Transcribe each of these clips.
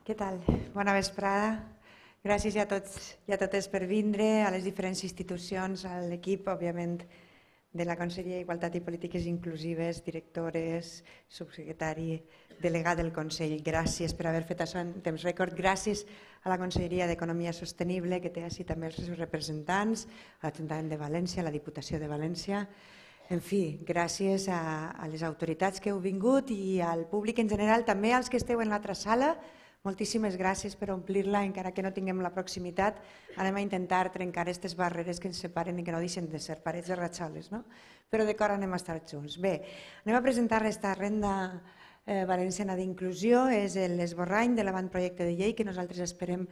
Què tal? Bona vesprada. Gràcies a tots i a totes per vindre, a les diferents institucions, a l'equip, òbviament, de la Conselleria d'Igualtat i Polítiques Inclusives, directores, subsecretari, delegat del Consell. Gràcies per haver fet això en temps rècord. Gràcies a la Conselleria d'Economia Sostenible, que té així també els seus representants, a l'Ajuntament de València, a la Diputació de València. En fi, gràcies a les autoritats que heu vingut i al públic en general, també als que esteu en l'altra sala. Moltíssimes gràcies per omplir-la, encara que no tinguem la proximitat. Anem a intentar trencar aquestes barreres que ens separen i que no deixen de ser parets de ratxoles, no? Però de cor anem a estar junts. Bé, anem a presentar esta renda valenciana d'inclusió. És l'esborrany de l'avantprojecte de llei que nosaltres esperem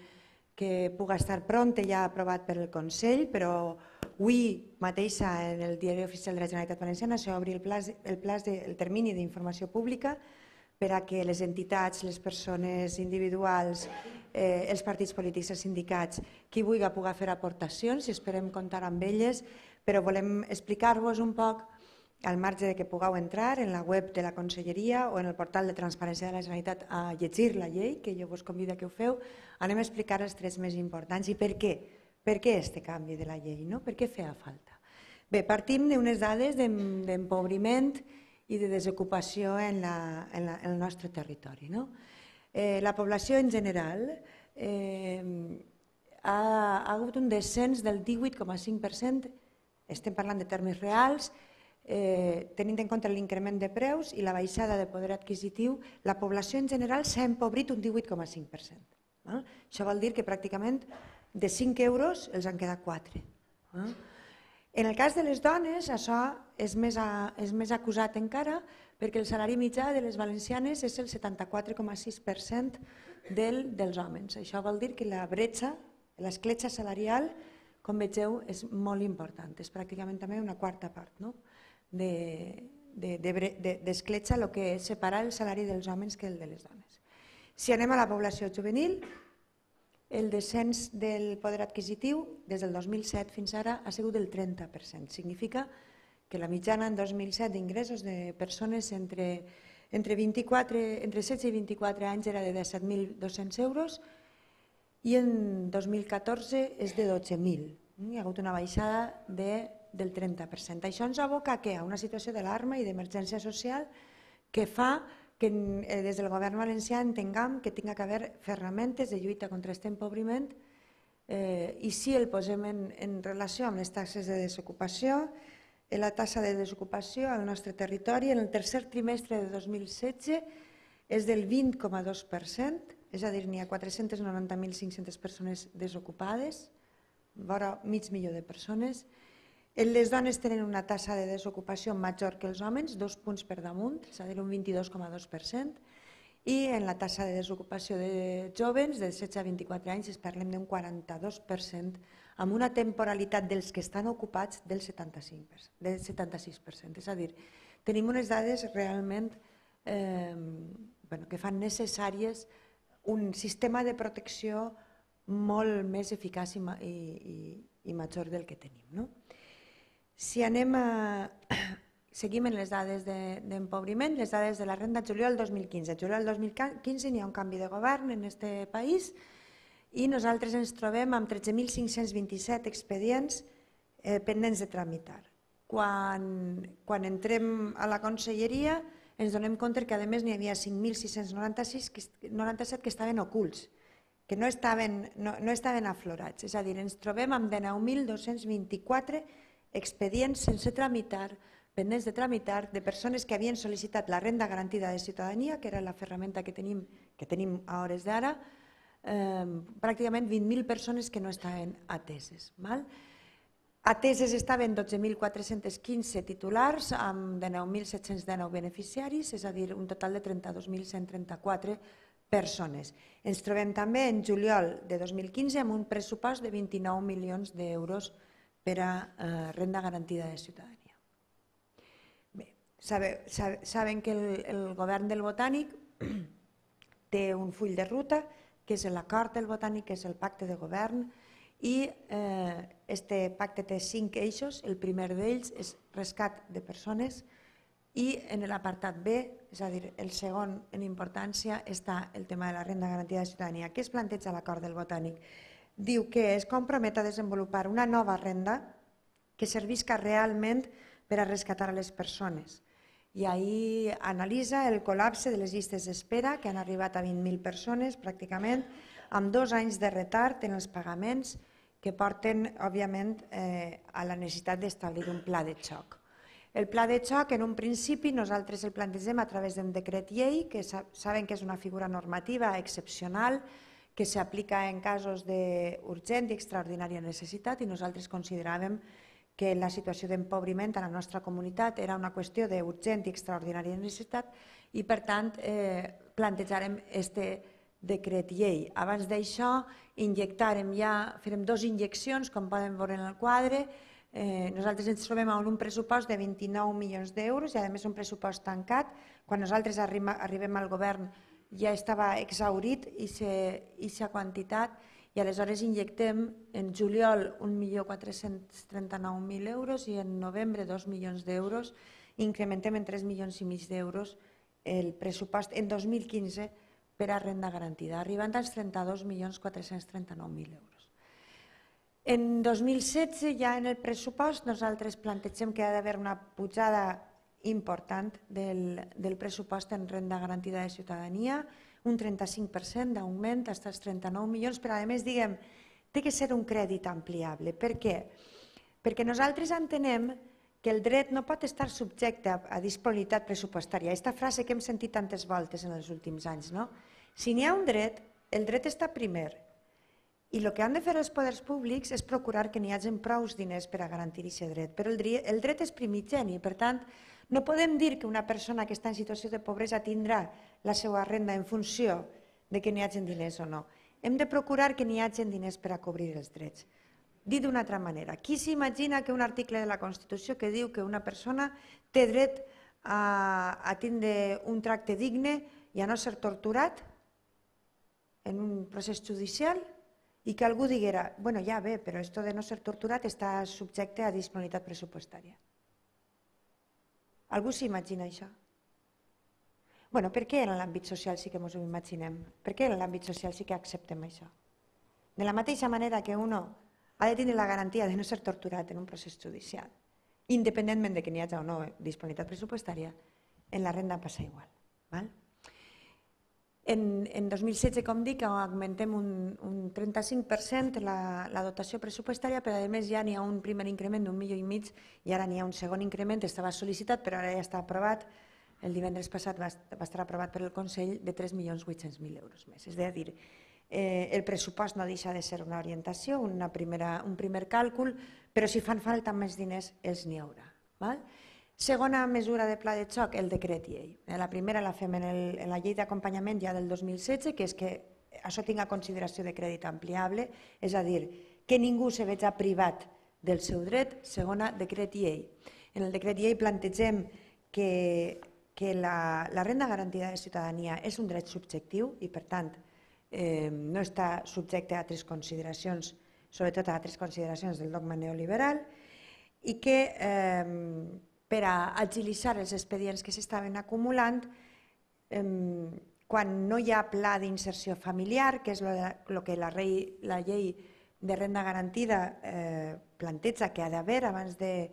que pugui estar pront, ja aprovat per el Consell, però avui mateixa en el Diari Oficial de la Generalitat Valenciana s'obri el termini d'informació pública per a que les entitats, les persones individuals, els partits polítics, els sindicats, qui vulgui pugui fer aportacions, i esperem comptar amb elles, però volem explicar-vos un poc, al marge de que pugueu entrar en la web de la Conselleria o en el portal de Transparència de la Generalitat a llegir la llei, que jo vos convido que ho feu, anem a explicar els trets més importants i per què. Per què aquest canvi de la llei? Per què feia falta? Bé, partim d'unes dades d'empobriment i de desocupació en el nostre territori. La població en general ha hagut un descens del 18,5%, estem parlant de termes reals, tenint en compte l'increment de preus i la baixada de poder adquisitiu, la població en general s'ha empobrit un 18,5%. Això vol dir que pràcticament de 5 euros els han quedat 4. En el cas de les dones, això és més acusat encara, perquè el salari mitjà de les valencianes és el 74,6% dels homes. Això vol dir que la bretxa, l'escletxa salarial, com vegeu, és molt important. És pràcticament també una quarta part d'escletxa el que és separar el salari dels homes que el de les dones. Si anem a la població juvenil, el descens del poder adquisitiu des del 2007 fins ara ha sigut del 30%. Significa que la mitjana en 2007 d'ingressos de persones entre 16 i 24 anys era de 17.200 euros i en 2014 és de 12.000. Hi ha hagut una baixada del 30%. Això ens aboca a una situació d'alarma i d'emergència social que fa que des del govern valencià entenguem que tingui que haver ferramentes de lluita contra aquest empobriment i si el posem en relació amb les taxes de desocupació, la taxa de desocupació al nostre territori en el tercer trimestre de 2016 és del 20,2%, és a dir, n'hi ha 490.500 persones desocupades, vora mig milió de persones. Les dones tenen una taxa de desocupació major que els homes, 2 punts per damunt, és a dir, un 22,2%, i en la taxa de desocupació de joves de 16 a 24 anys parlem d'un 42%, amb una temporalitat dels que estan ocupats del 76%. És a dir, tenim unes dades realment que fan necessàries un sistema de protecció molt més eficaç i major del que tenim. Si seguim en les dades d'empobriment, les dades de la renda juliol 2015. Juliol 2015 n'hi ha un canvi de govern en aquest país i nosaltres ens trobem amb 13.527 expedients pendents de tramitar. Quan entrem a la Conselleria ens donem compte que a més n'hi havia 5.697 que estaven ocults, que no estaven aflorats. És a dir, ens trobem amb 19.224 expedients sense tramitar, pendents de tramitar, de persones que havien sol·licitat la renda garantida de ciutadania, que era la ferramenta que tenim a hores d'ara, pràcticament 20.000 persones que no estaven ateses. Ateses estaven 12.415 titulars amb 19.719 beneficiaris, és a dir, un total de 32.134 persones. Ens trobem també en juliol de 2015 amb un pressupost de 29 milions d'euros per a renda garantida de ciutadania. Bé, saben que el govern del Botànic té un full de ruta, que és l'acord del Botànic, que és el pacte de govern, i aquest pacte té 5 eixos. El primer d'ells és rescat de persones I en l'apartat B, és a dir, el segon en importància, està el tema de la renda garantida de ciutadania. Què es planteja a l'acord del Botànic? Diu que es compromet a desenvolupar una nova renda que servisca realment per a rescatar les persones. I ahir analitza el col·lapse de les llistes d'espera, que han arribat a 20.000 persones pràcticament, amb 2 anys de retard en els pagaments que porten, òbviament, a la necessitat d'establir un pla de xoc. El pla de xoc, en un principi, nosaltres el plantegem a través d'un decret llei, que saben que és una figura normativa excepcional, que s'aplica en casos d'urgent i extraordinària necessitat, i nosaltres consideràvem que la situació d'empobriment a la nostra comunitat era una qüestió d'urgent i extraordinària necessitat i, per tant, plantejarem aquest decret llei. Abans d'això, farem 2 injeccions, com poden veure en el quadre. Nosaltres ens trobem amb un pressupost de 29 milions d'euros i, a més, un pressupost tancat. Quan nosaltres arribem al govern ja estava exhaurit aquesta quantitat i aleshores injectem en juliol 1.439.000 euros i en novembre 2 milions d'euros. Incrementem en 3 milions i mig d'euros el pressupost en 2015 per a renda garantida, arribant als 32.439.000 euros. En 2016, ja en el pressupost, nosaltres plantegem que ha d'haver una pujada important del pressupost en renda garantida de ciutadania, un 35% d'augment fins als 39 milions, però a més, diguem, té que ser un crèdit ampliable. Per què? Perquè nosaltres entenem que el dret no pot estar subjecte a disponibilitat pressupostària. Aquesta frase que hem sentit tantes voltes en els últims anys, no? Si n'hi ha un dret, el dret està primer. I el que han de fer els poders públics és procurar que n'hi hagi prou diners per a garantir aquest dret. Però el dret és primigeni, per tant, no podem dir que una persona que està en situació de pobresa tindrà la seva renda en funció de que n'hi hagi diners o no. Hem de procurar que n'hi hagi diners per a cobrir els drets. Dit d'una altra manera, qui s'imagina que un article de la Constitució que diu que una persona té dret a tindre un tracte digne i a no ser torturat en un procés judicial i que algú diguera, bueno, ja bé, però esto de no ser torturat està subjecte a disponibilitat pressupostària. Algú s'imagina això? Bueno, per què en l'àmbit social sí que ens ho imaginem? Per què en l'àmbit social sí que acceptem això? De la mateixa manera que uno ha de tenir la garantia de no ser torturat en un procés judicial, independentment de que n'hi hagi o no disponibilitat pressupostària, en la renda passa igual. En 2016, com dic, augmentem un 35% la dotació pressupostària, però a més ja n'hi ha un primer increment d'1,5 milions i ara n'hi ha un segon increment, estava sol·licitat però ara ja està aprovat, el divendres passat va estar aprovat per el Consell, de 3.800.000 euros més. És a dir, el pressupost no deixa de ser una orientació, un primer càlcul, però si fan falta més diners els n'hi haurà. Segona mesura de pla de xoc, el decret llei. La primera la fem en la llei d'acompanyament ja del 2016, que és que això tinga consideració de crèdit ampliable, és a dir, que ningú se veja privat del seu dret. Segona, decret llei. En el decret llei plantegem que la renda garantida de ciutadania és un dret subjectiu i, per tant, no està subjecte a altres consideracions, sobretot a altres consideracions del dogma neoliberal, i que per a agilitzar els expedients que s'estaven acumulant, quan no hi ha pla d'inserció familiar, que és el que la llei de renda garantida planteja que ha d'haver abans de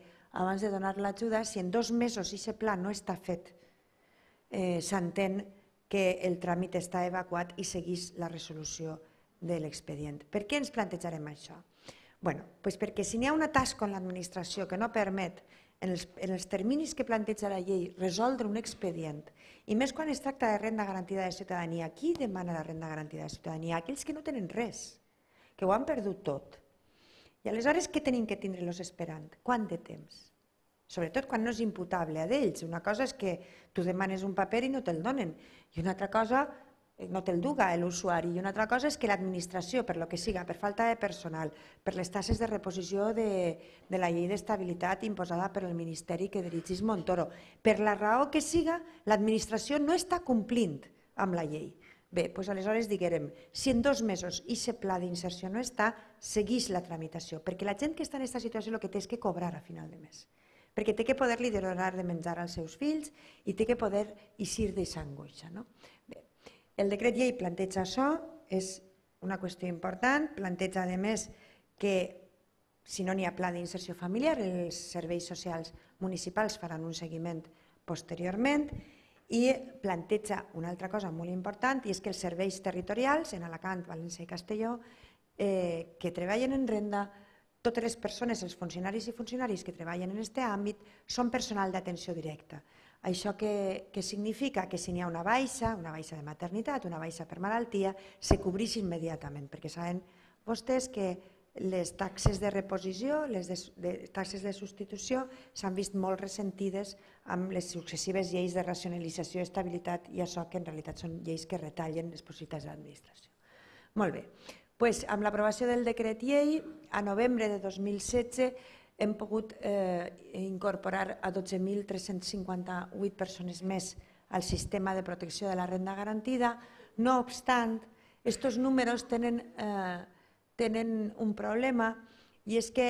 donar l'ajuda, si en 2 mesos aquest pla no està fet, s'entén que el tràmit està evacuat i segueix la resolució de l'expedient. Per què ens plantejarem això? Perquè si n'hi ha una tasca en l'administració que no permet, en els terminis que planteja la llei, resoldre un expedient, i més quan es tracta de renda garantida de ciutadania, qui demana la renda garantida de ciutadania? Aquells que no tenen res, que ho han perdut tot. I aleshores què tenim que tindre-los esperant? Quant de temps? Sobretot quan no és imputable a d'ells. Una cosa és que tu demanes un paper i no te'l donen, i una altra cosa no te'l duga l'usuari, i una altra cosa és que l'administració, per lo que siga, per falta de personal, per les tasses de reposició de la llei d'estabilitat imposada per el Ministeri que dirigís Montoro, per la raó que siga, l'administració no està complint amb la llei. Bé, doncs aleshores diguem, si en 2 mesos aquest pla d'inserció no està, segueix la tramitació, perquè la gent que està en aquesta situació el que té és que cobrar a final de mes. perquè té que poder-li donar de menjar als seus fills i té que poder eixir d'aquesta angoixa. El decret llei planteja això, és una qüestió important, planteja a més que si no n'hi ha pla d'inserció familiar, els serveis socials municipals faran un seguiment posteriorment i planteja una altra cosa molt important i és que els serveis territorials en Alacant, València i Castelló que treballen en renda, totes les persones, els funcionaris i funcionaris que treballen en aquest àmbit són personal d'atenció directa. Això què significa? Que si n'hi ha una baixa de maternitat, una baixa per malaltia, se cobreix immediatament, perquè saben vostès que les taxes de reposició, les taxes de substitució s'han vist molt ressentides amb les successives lleis de racionalització i estabilitat i això que en realitat són lleis que retallen les possibilitats de l'administració. Molt bé, doncs amb l'aprovació del decret llei, a novembre de 2016 hem pogut incorporar a 12.358 persones més al sistema de protecció de la renda garantida. No obstant, aquests números tenen un problema i és que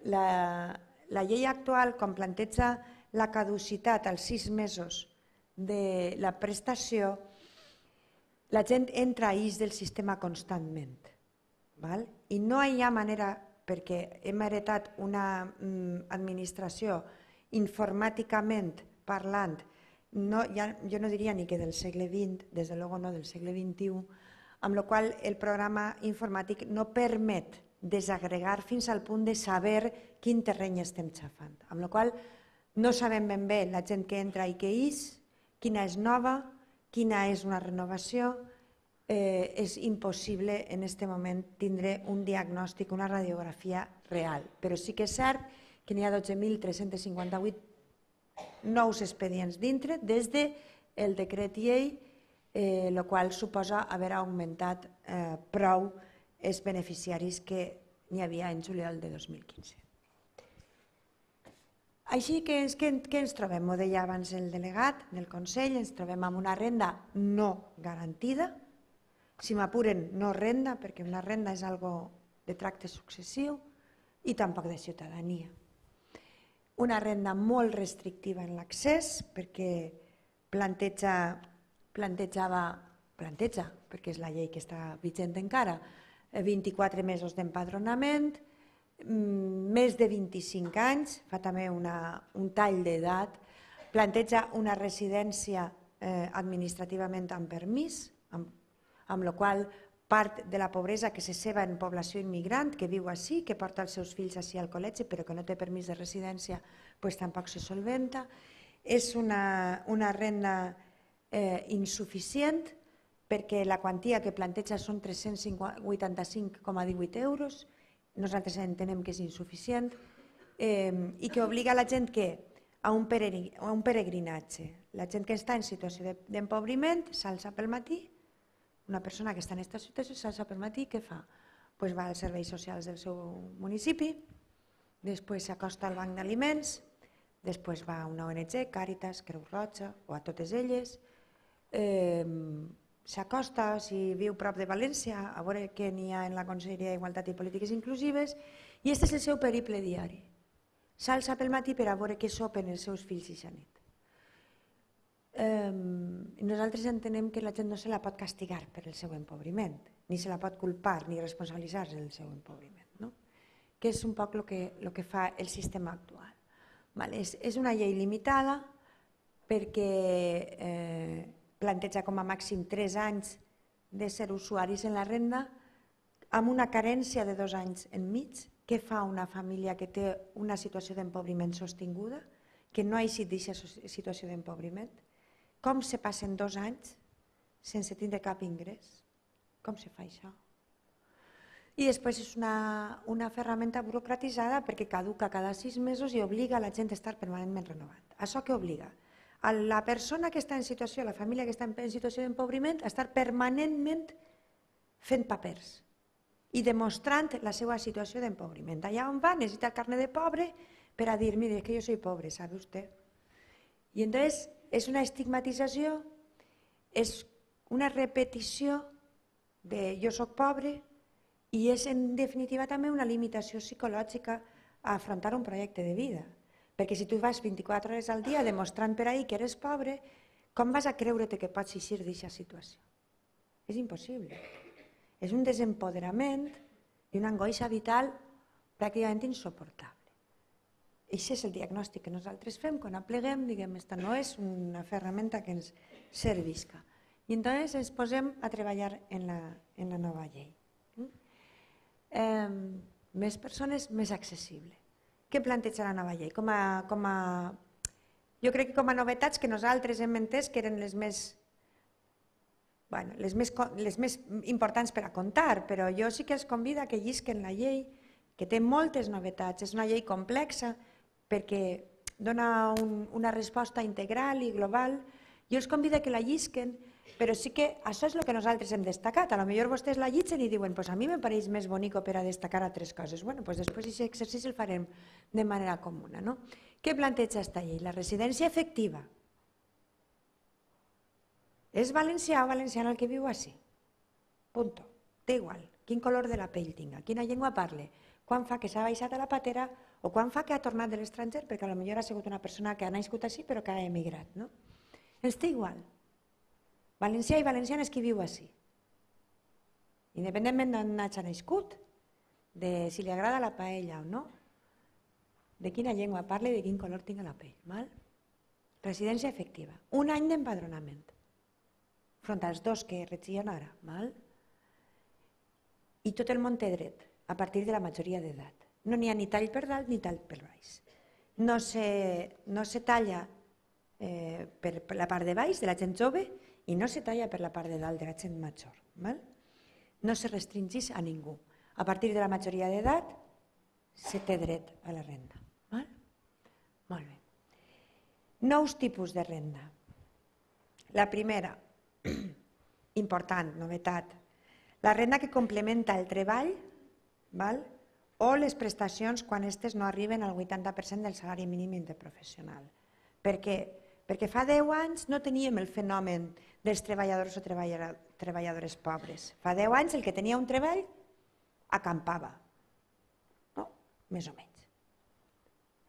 la llei actual, quan planteja la caducitat als 6 mesos de la prestació, la gent entra a eix del sistema constantment i no hi ha manera, perquè hem heretat una administració informàticament parlant, jo no diria ni que del segle XX, des de luego no del segle XXI, amb la qual el programa informàtic no permet desagregar fins al punt de saber quin terreny estem xafant. Amb la qual no sabem ben bé la gent que entra i que és, quina és nova, quina és una renovació. És impossible en aquest moment tindre un diagnòstic, una radiografia real. Però sí que és cert que n'hi ha 12.358 nous expedients dintre des del decret llei, el qual suposa haver augmentat prou els beneficiaris que n'hi havia en juliol de 2015. Així que què ens trobem? Ho deia abans el delegat del Consell, ens trobem amb una renda no garantida, si m'apuren no renda, perquè una renda és algo de tracte successiu i tampoc de ciutadania. Una renda molt restrictiva en l'accés perquè planteja, perquè és la llei que està vigent encara, 24 mesos d'empadronament, més de 25 anys, fa també un tall d'edat, planteja una residència administrativament amb permís, amb la qual part de la pobresa que se ceba en població immigrant, que viu així, que porta els seus fills així al col·legi, però que no té permís de residència, tampoc se solventa. És una renda insuficient perquè la quantia que planteja són 385,18 euros, nosaltres entenem que és insuficient i que obliga la gent a un peregrinatge. La gent que està en situació d'empobriment s'alça pel matí, una persona que està en aquesta situació s'alça pel matí, què fa? Va als serveis socials del seu municipi, després s'acosta al banc d'aliments, després va a una ONG, Càritas, Creu Roja o a totes elles, s'acosta, si viu prop de València, a veure què n'hi ha en la Conselleria d'Igualtat i Polítiques Inclusives, i aquest és el seu periple diari. S'alça pel matí per a veure què sopen els seus fills i nit. Nosaltres entenem que la gent no se la pot castigar per el seu empobriment, ni se la pot culpar ni responsabilitzar-se del seu empobriment, que és un poc el que fa el sistema actual. És una llei limitada perquè planteja com a màxim 3 anys de ser usuaris en la renda amb una carència de 2 anys enmig. Què fa una família que té una situació d'empobriment sostinguda, que no ha eixit d'aquesta situació d'empobriment? Com se passen 2 anys sense tindre cap ingrés? Com se fa això? I després és una ferramenta burocratitzada perquè caduca cada 6 mesos i obliga la gent a estar permanentment renovant. Això què obliga? A la persona que està en situació, la família que està en situació d'empobriment, a estar permanentment fent papers i demostrant la seva situació d'empobriment. Allà on va necessita el carnet de pobre per a dir, mire, que jo soy pobre, ¿sabe usted? I entonces és una estigmatització, és una repetició de jo soc pobre i és en definitiva també una limitació psicològica a afrontar un projecte de vida. Perquè si tu vas 24 hores al dia demostrant per ahir que eres pobre, com vas a creure't que pots eixir d'aquesta situació? És impossible. És un desempoderament i una angoixa vital pràcticament insuportable. Aquest és el diagnòstic que nosaltres fem quan apleguem, diguem, esta no és una ferramenta que ens servisca. I llavors ens posem a treballar en la nova llei. Més persones, més accessible. Què planteja la nova llei? Jo crec que com a novetats que nosaltres hem entès que eren les més importants per a contar, però jo sí que els convido a que llisquen la llei, que té moltes novetats, és una llei complexa perquè dona una resposta integral i global. Jo els convido a que la llisquen, però sí que això és el que nosaltres hem destacat. A lo millor vostès la llitgen i diuen a mi me pareix més bonic per a destacar altres coses. Bé, després aquest exercici el farem de manera comuna. Què planteja aquesta llei? La residència efectiva. És valencià o valenciana el que viu així? Punto. Té igual. Quin color de la pell tinga, quina llengua parle, quan fa que s'ha baixat a la patera o quan fa que ha tornat de l'estranger, perquè potser ha sigut una persona que ha nascut així però que ha emigrat. Ens té igual. Valencià i valenciana és qui viu així. Independentment d'on hagi nascut, de si li agrada la paella o no, de quina llengua parla i de quin color tinga la pell. Residència efectiva. 1 any d'empadronament. Front als 2 que regien ara. I tot el món té dret, a partir de la majoria d'edat. No n'hi ha ni tall per dalt ni tall per baix. No se talla per la part de baix de la gent jove i no se talla per la part de dalt de la gent major. No se restringeix a ningú. A partir de la majoria d'edat se té dret a la renda. Molt bé. Nous tipus de renda. La primera, important, novetat, la renda que complementa el treball o les prestacions quan aquestes no arriben al 80% del salari mínim interprofessional. Per què? Perquè fa 10 anys no teníem el fenomen dels treballadors o treballadores pobres. Fa 10 anys el que tenia un treball acampava, més o menys.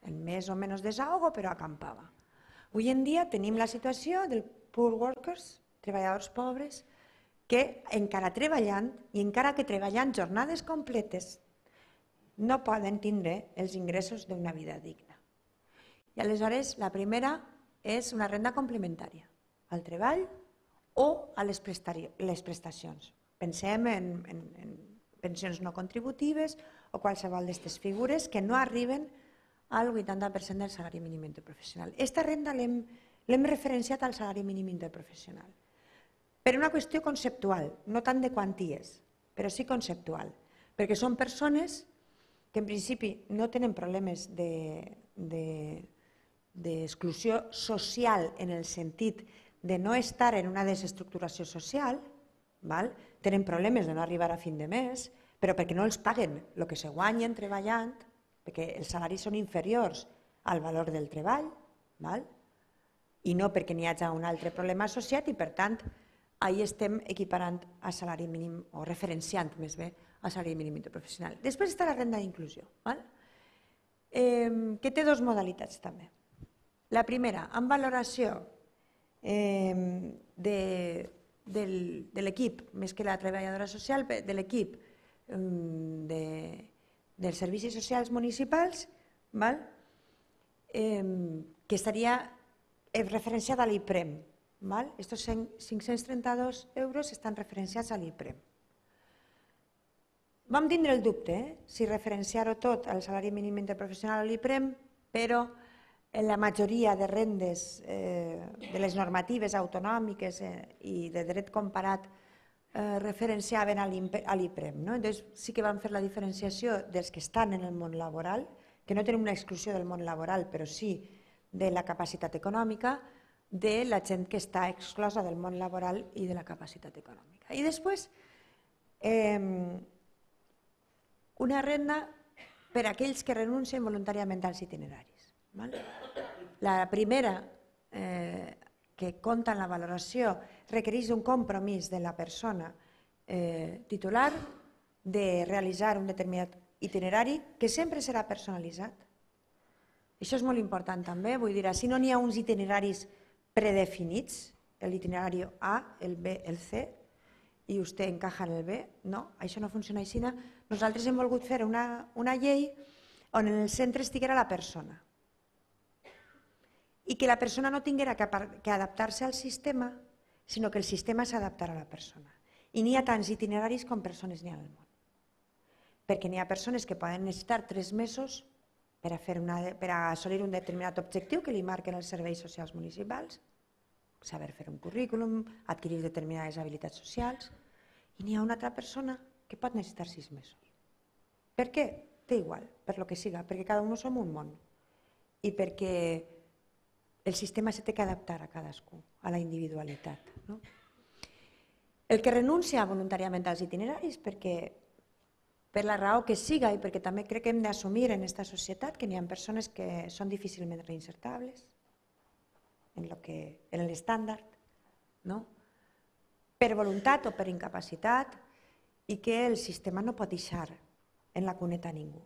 En més o menys desahogo, però acampava. Avui en dia tenim la situació del poor workers, treballadors pobres, que encara treballant, i encara que treballant jornades completes, no poden tindre els ingressos d'una vida digna. I aleshores la primera és una renda complementària al treball o a les prestacions. Pensem en pensions no contributives o qualsevol d'aquestes figures que no arriben al 80% del salari mínim interprofessional. Aquesta renda l'hem referenciat al salari mínim interprofessional per una qüestió conceptual, no tant de quanties, però sí conceptual, perquè són persones que en principi no tenen problemes d'exclusió social en el sentit de no estar en una desestructuració social, tenen problemes de no arribar a fin de mes, però perquè no els paguen el que se guanyen treballant, perquè els salaris són inferiors al valor del treball, i no perquè n'hi hagi un altre problema associat i, per tant, ahir estem equiparant a salari mínim o referenciant més bé a salari mínim interprofessional. Després està la renda d'inclusió, que té 2 modalitats també. La primera, amb valoració de l'equip, més que la treballadora social, de l'equip dels servicis socials municipals, que estaria referenciada a l'IPREM. Estos 532 euros estan referenciats a l'IPREM. Vam tindre el dubte si referenciar-ho tot al salari mínim interprofessional a l'IPREM, però en la majoria de rendes de les normatives autonòmiques i de dret comparat referenciaven a l'IPREM. Llavors sí que vam fer la diferenciació dels que estan en el món laboral, que no tenen una exclusió del món laboral, però sí de la capacitat econòmica, de la gent que està exclosa del món laboral i de la capacitat econòmica. I després, una renda per a aquells que renuncien voluntàriament als itineraris. La primera, que compta en la valoració, requereix un compromís de la persona titular de realitzar un determinat itinerari que sempre serà personalitzat. Això és molt important també, vull dir, si no n'hi ha uns itineraris predefinits, l'itinerari A, el B, el C, i vostè encaja en el B, no, això no funciona així. Nosaltres hem volgut fer una llei on en el centre estiguera la persona i que la persona no tinguera que adaptar-se al sistema, sinó que el sistema s'adaptarà a la persona. I n'hi ha tants itineraris com persones n'hi ha al món. Perquè n'hi ha persones que poden necessitar 3 mesos per assolir un determinat objectiu que li marquen els serveis socials municipals, saber fer un currículum, adquirir determinades habilitats socials, i n'hi ha una altra persona que pot necessitar 6 mesos. Per què? Té igual, per lo que siga, perquè cada un som un món i perquè el sistema s'ha de adaptar a cadascú, a la individualitat. El que renuncia voluntàriament als itineraris, per la raó que siga i perquè també crec que hem d'assumir en aquesta societat que n'hi ha persones que són difícilment reinsertables en l'estàndard, per voluntat o per incapacitat, i que el sistema no pot deixar en la cuneta a ningú.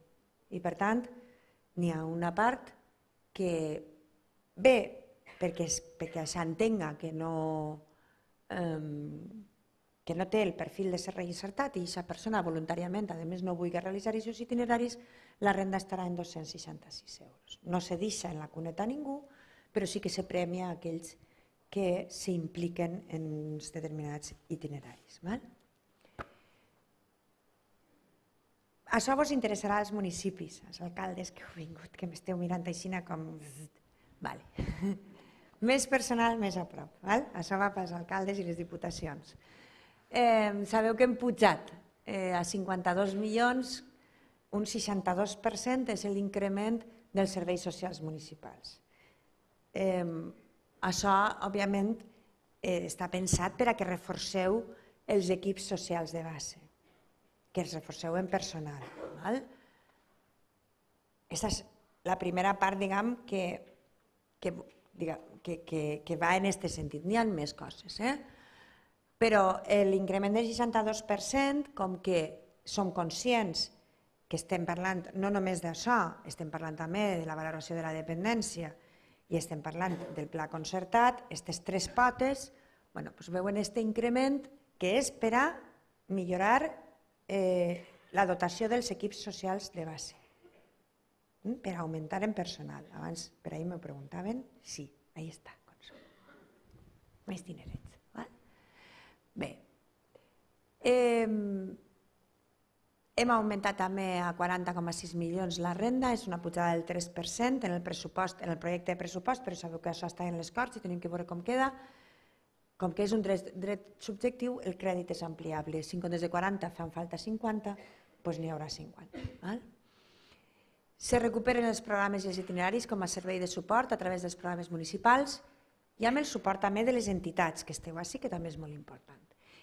I per tant, n'hi ha una part que bé, perquè s'entenga que no té el perfil de ser reinsertat i aquesta persona voluntàriament, a més, no vulgui realitzar aquests itineraris, la renda estarà en 266 euros. No se deixa en la cuneta a ningú, però sí que se premia aquells que s'impliquen en uns determinats itineraris. Això vos interessarà als municipis, als alcaldes que heu vingut, que m'esteu mirant així com... Més personal, més a prop. Això va pels alcaldes i les diputacions. Sabeu que hem pujat a 52 milions, un 62% és l'increment dels serveis socials municipals. Això, òbviament, està pensat per a que reforceu els equips socials de base, que els reforceu en personal. Aquesta és la primera part, diguem, que va en aquest sentit. N'hi ha més coses, però l'increment del 62%, com que som conscients que estem parlant no només d'això, estem parlant també de la valoració de la dependència i estem parlant del pla concertat, aquestes 3 potes, veuen aquest increment que és per a millorar la dotació dels equips socials de base, per augmentar en personal. Abans per ahir m'ho preguntaven, sí, ahí està. Més dinerets. Bé, hem augmentat també a 40,6 milions la renda, és una pujada del 3% en el projecte de pressupost, però sabeu que això està en les Corts i tenim que veure com queda. Com que és un dret subjectiu, el crèdit és ampliable. Si en comptes de 40 fan falta 50, doncs n'hi haurà 50. Se recuperen els programes i els itineraris com a servei de suport a través dels programes municipals i amb el suport també de les entitats que esteu així, que també és molt important.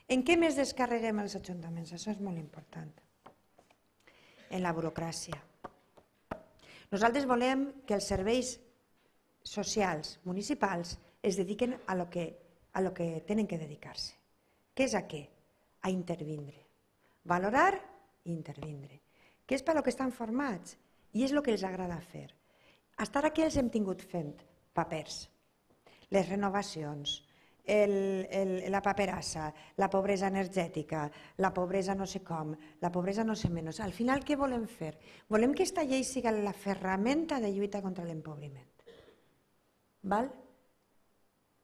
En què més descarreguem els ajuntaments? Això és molt important. En la burocràcia. Nosaltres volem que els serveis socials municipals es dediquen a lo que tenen que dedicar-se. Què és a què? A intervindre. Valorar i intervindre. Que és per lo que estan formats i és el que els agrada fer. Fins ara què els hem tingut fent? Papers, les renovacions, la paperassa, la pobresa energètica, la pobresa no sé com, la pobresa no sé menys. Al final què volem fer? Volem que aquesta llei sigui la ferramenta de lluita contra l'empobriment.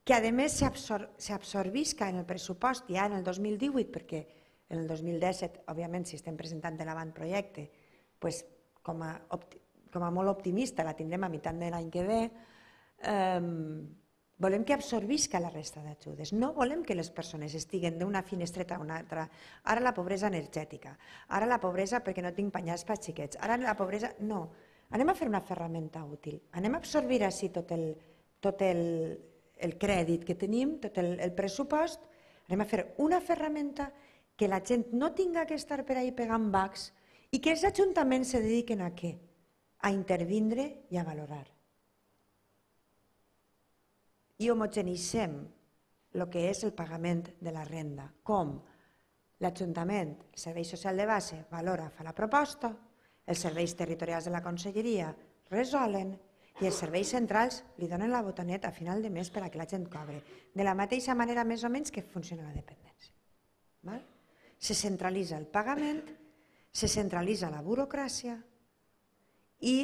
Que a més s'absorbisca en el pressupost ja en el 2018, perquè en el 2017, òbviament, si estem presentant l'avantprojecte, com a molt optimista la tindrem a meitat de l'any que ve, volem que absorbisca la resta d'ajudes. No volem que les persones estiguen d'una finestreta a una altra. Ara la pobresa energètica, ara la pobresa perquè no tinc penyals per xiquets, ara la pobresa... No, anem a fer una ferramenta útil, anem a absorbir així tot el crèdit que tenim, tot el pressupost, anem a fer una ferramenta que la gent no tinga que estar per ahí pegant bacs i que els ajuntaments se dediquen a què? A intervindre i a valorar. I homogeneïtzem el que és el pagament de la renda. Com? L'Ajuntament, el Servei Social de Base, valora, fa la proposta, els serveis territorials de la Conselleria resolen i els serveis centrals li donen la botoneta a final de mes per a que la gent cobre, de la mateixa manera més o menys que funciona la dependència. Se centralitza el pagament, se centralitza la burocràcia i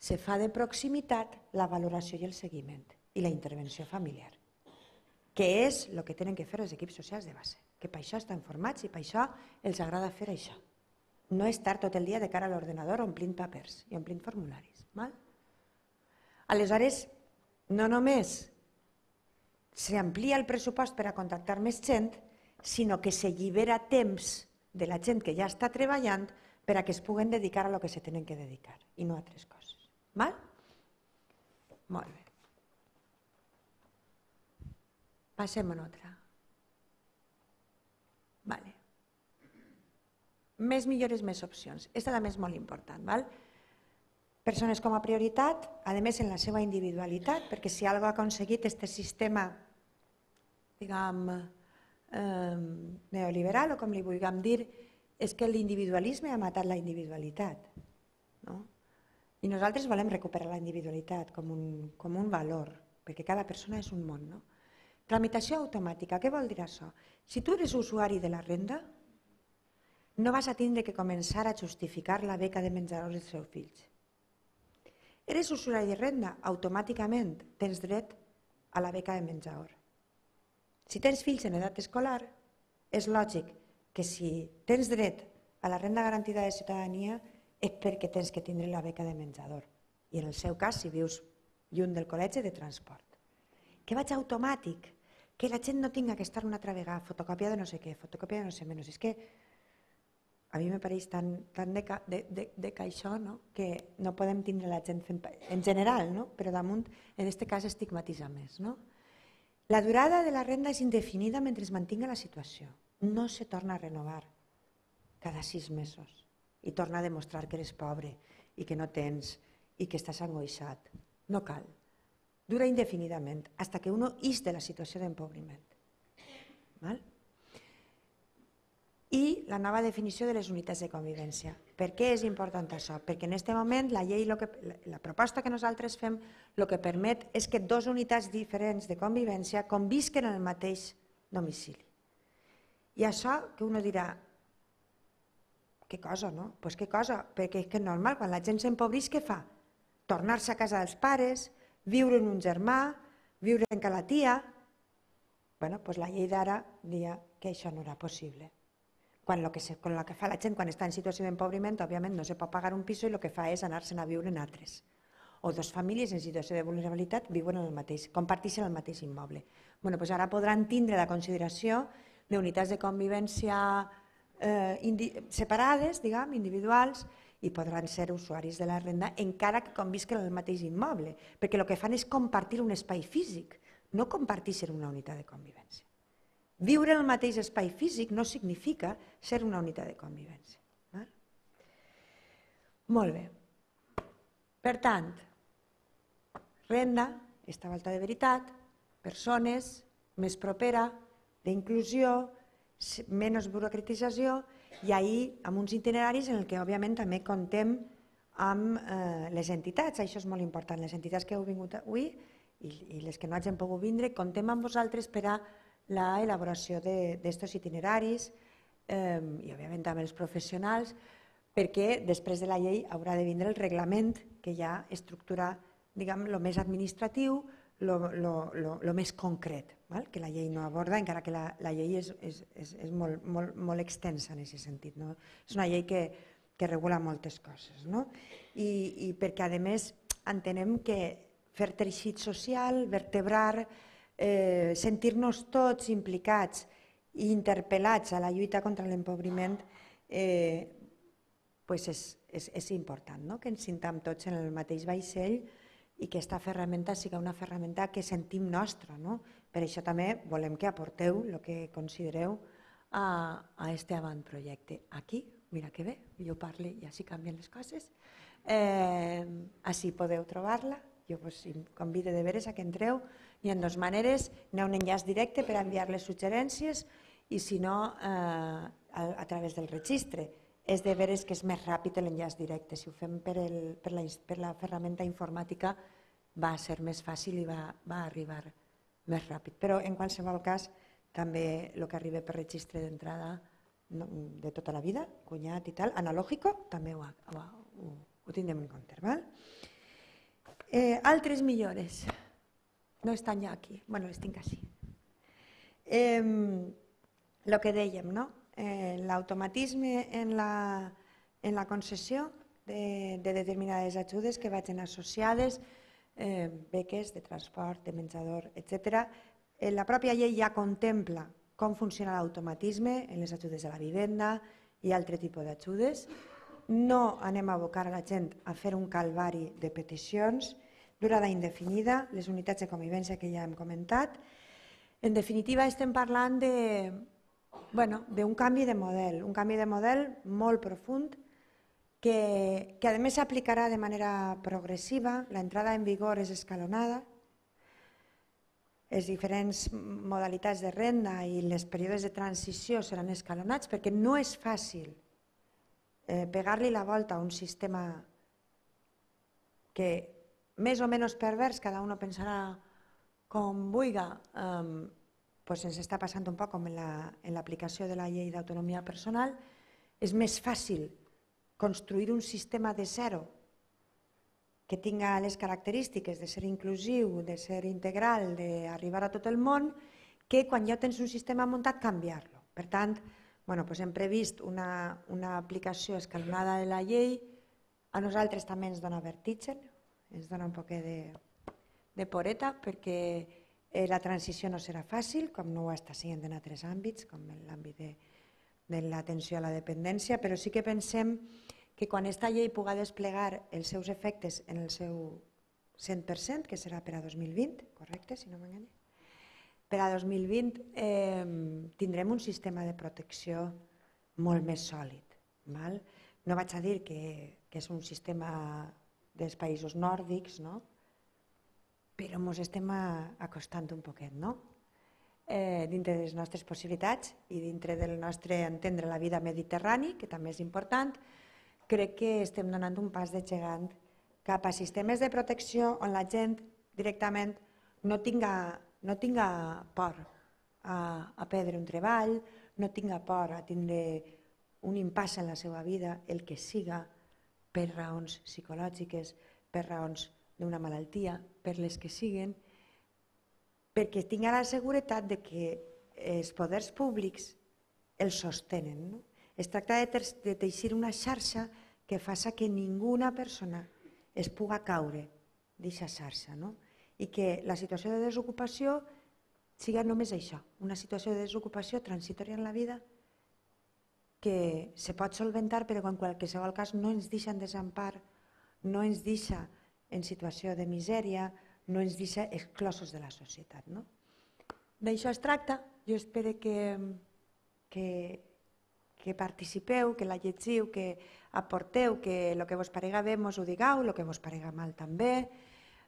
se fa de proximitat la valoració i el seguiment i la intervenció familiar, que és el que tenen que fer els equips socials de base, que per això estan formats i per això els agrada fer això. No estar tot el dia de cara a l'ordenador omplint papers i omplint formularis. Aleshores, no només s'amplia el pressupost per a contractar més gent, sinó que s'allibera temps de la gent que ja està treballant per a que es puguen dedicar a lo que se tenen que dedicar i no a altres coses. Molt bé. Passem a una altra. Més millores, més opcions. Aquesta també és molt important. Persones com a prioritat, a més en la seva individualitat, perquè si alguna cosa ha aconseguit aquest sistema, diguem, neoliberal, o com li vulguem dir, és que l'individualisme ha matat la individualitat. I nosaltres volem recuperar la individualitat com un valor, perquè cada persona és un món. Tramitació automàtica, què vol dir això? Si tu eres usuari de la renda, no vas a tindre que començar a justificar la beca de menjador dels seus fills. Eres usuari de renda, automàticament tens dret a la beca de menjador. Si tens fills en edat escolar, és lògic que si tens dret a la renda garantida de ciutadania és perquè tens que tindre la beca de menjador. I en el seu cas, si vius lluny del col·legi, de transport. Que vaig automàtic, que la gent no tinga que estar una altra vegada, fotocòpia de no sé què, fotocòpia de no sé menys. És que a mi me pareix tan de caixó que no podem tindre la gent fent, en general, però damunt, en aquest cas, estigmatitzar més. La durada de la renda és indefinida mentre es mantinga la situació. No se torna a renovar cada 6 mesos i torna a demostrar que eres pobre i que no tens i que estàs angoixat. No cal. Dura indefinidament, fins que uno ix de la situació d'empobriment. I la nova definició de les unitats de convivència. Per què és important això? Perquè en aquest moment la proposta que nosaltres fem el que permet és que 2 unitats diferents de convivència convisquen en el mateix domicili. I això que uno dirà, què cosa, no? Doncs què cosa, perquè és normal, quan la gent s'empobreix, què fa? Tornar-se a casa dels pares, viure en un germà, viure en casa la tia. Doncs la llei d'ara dia que això no era possible. Quan el que fa la gent quan està en situació d'empobriment, òbviament no se pot pagar un pis i el que fa és anar-se'n a viure en altres. O 2 famílies en situació de vulnerabilitat viuen en el mateix, comparteixen el mateix immoble. Ara podran tindre la consideració d'unitats de convivència separades, individuals, i podran ser usuaris de la renda encara que convisquen en el mateix immoble, perquè el que fan és compartir un espai físic, no comparteixen una unitat de convivència. Viure en el mateix espai físic no significa ser una unitat de convivència. Molt bé. Per tant, renda, aquesta volta de veritat, persones, més propera, d'inclusió, menys burocratització, i ahir amb uns itineraris en què òbviament també contem amb les entitats. Això és molt important. Les entitats que heu vingut avui i les que no hagin pogut vindre, contem amb vosaltres per a l'elaboració d'aquests itineraris i, òbviament, amb els professionals, perquè després de la llei haurà de vindre el reglament que ja estructura, diguem, el més administratiu, el més concret, que la llei no aborda, encara que la llei és molt extensa en aquest sentit. És una llei que regula moltes coses. I perquè, a més, entenem que fer teixit social, vertebrar, sentir-nos tots implicats i interpel·lats a la lluita contra l'empobriment és important, que ens sintam tots en el mateix vaixell i que aquesta ferramenta sigui una ferramenta que sentim nostra. Per això també volem que aporteu el que considereu a aquest avantprojecte. Aquí, mira que bé, jo parlo i així canvien les coses. Així podeu trobar-la. Jo us convido de veres a que entreu. Hi ha 2 maneres. Hi ha un enllaç directe per enviar les suggerències i, si no, a través del registre. és de veres que és més ràpid l'enllaç directe. Si ho fem per la ferramenta informàtica va ser més fàcil i va arribar més ràpid. Però en qualsevol cas també el que arriba per registre d'entrada de tota la vida, cunyat i tal, analògico, també ho tindrem en compte. Altres millores. No estan ja aquí, bueno, les tinc així. El que dèiem, no? L'automatisme en la concessió de determinades ajudes que vagin associades, beques de transport, de menjador, etc. La pròpia llei ja contempla com funciona l'automatisme en les ajudes a la vivenda i altre tipus d'ajudes. No anem a abocar a la gent a fer un calvari de peticions, durada indefinida, les unitats de convivència que ja hem comentat. En definitiva, estem parlant d'un canvi de model, un canvi de model molt profund que a més s'aplicarà de manera progressiva, l'entrada en vigor és escalonada, les diferents modalitats de renda i els períodes de transició seran escalonats perquè no és fàcil pegar-li la volta a un sistema que més o menys pervers, cada un pensarà com vulgui, ens està passant un poc com en l'aplicació de la llei d'autonomia personal. És més fàcil construir un sistema de zero que tinga les característiques de ser inclusiu, de ser integral, d'arribar a tot el món, que quan ja tens un sistema muntat canviar-lo. Per tant, hem previst una aplicació escalonada de la llei. A nosaltres també ens dona vertigen, ens dona un poc de poreta, perquè la transició no serà fàcil, com no ho està sent en altres àmbits, com en l'àmbit de l'atenció a la dependència, però sí que pensem que quan aquesta llei pugui desplegar els seus efectes en el seu 100%, que serà per a 2020, correcte, si no m'enganya, per a 2020 tindrem un sistema de protecció molt més sòlid. No vaig a dir que és un sistema dels països nòrdics, però ens estem acostant un poquet, dintre de les nostres possibilitats i dintre del nostre entendre la vida mediterrani, que també és important. Crec que estem donant un pas de gegant cap a sistemes de protecció on la gent directament no tinga por a perdre un treball, no tinga por a tindre un impàs en la seva vida, el que siga, per raons psicològiques, per raons d'una malaltia, per les que siguen, perquè tinga la seguretat que els poders públics els sostenen. Es tracta de teixir una xarxa que faci que ninguna persona es pugui caure d'aquesta xarxa i que la situació de desocupació sigui només això, una situació de desocupació transitòria en la vida que se pot solventar però en qualsevol cas no ens deixa en desempar, no ens deixa en situació de misèria, no ens deixa exclosos de la societat. D'això es tracta. Jo espero que participeu, que la llegiu, que aporteu, que el que vos parega bé mos ho digueu, el que vos parega mal també,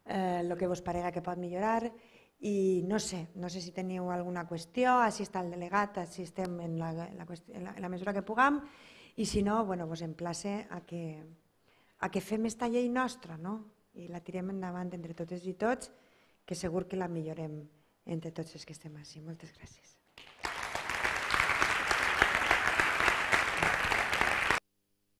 el que vos parega que pot millorar. I no sé si teniu alguna qüestió, així està el delegat, així estem en la mesura que puguem, i si no, vos emplace a que fem esta llei nostra i la tirem endavant entre totes i tots, que segur que la millorem entre tots els que estem així. Moltes gràcies.